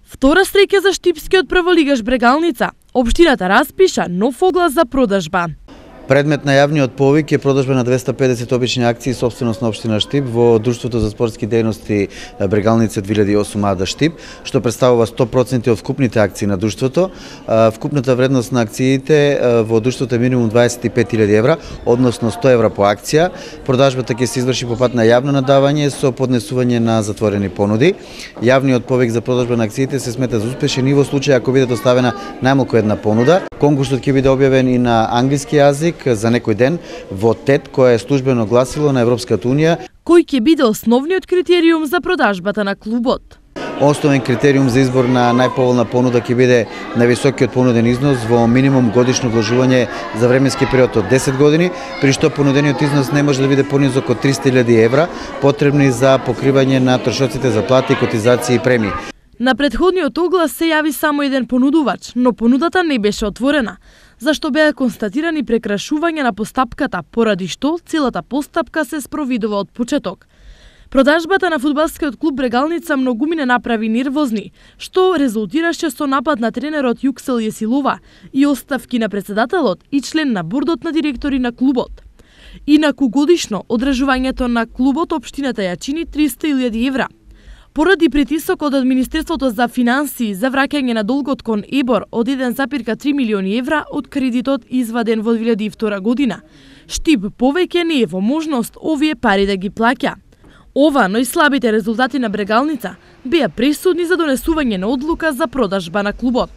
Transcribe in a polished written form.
Втора стреќа за штипскиот прволигаш Брегалница. Општината распиша нов оглас за продажба. Предмет на јавниот повик е продажба на 250 обични акции собственост на општина Штип во Друштвото за спортски дејности Брегалница 2008 АД Штип, што представува 100% од вкупните акции на друштвото. Вкупната вредност на акциите во друштвото е минимум 25.000 евра, односно 100 евра по акција. Продажбата ќе се изврши по пат на јавно надавање со поднесување на затворени понуди. Јавниот повик за продажба на акциите се смета за успешен и во случај ако биде доставена најмалку една понуда. Конкурсот ќе биде објавен и на англиски јазик за некој ден во ТЕД, кој е службено гласило на Европската унија. Кој ќе биде основниот критериум за продажбата на клубот? Основен критериум за избор на најповолна понуда ќе биде највисокиот понуден износ во минимум годишно вложување за временски период од 10 години, при што понудениот износ не може да биде понизок од 300.000 евра, потребни за покривање на трошоците за плати, котизации и премии. На претходниот оглас се јави само еден понудувач, но понудата не беше отворена, зашто беа констатирани прекрашувања на постапката, поради што целата постапка се спровидува од почеток. Продажбата на фудбалскиот клуб Брегалница многумина направи нервозни, што резултираше со напад на тренерот Јуксел Јесилова и оставки на председателот и член на бордот на директори на клубот. Инаку годишно одржувањето на клубот општината ја чини 300.000 евра. Поради притисокот од Министерството за финансии за враќање на долгот кон ЕБОР од 1,3 милиони евра од кредитот изваден во 2002 година, Штип повеќе не е во можност овие пари да ги плаќа. Ова, но и слабите резултати на Брегалница беа пресудни за донесување на одлука за продажба на клубот.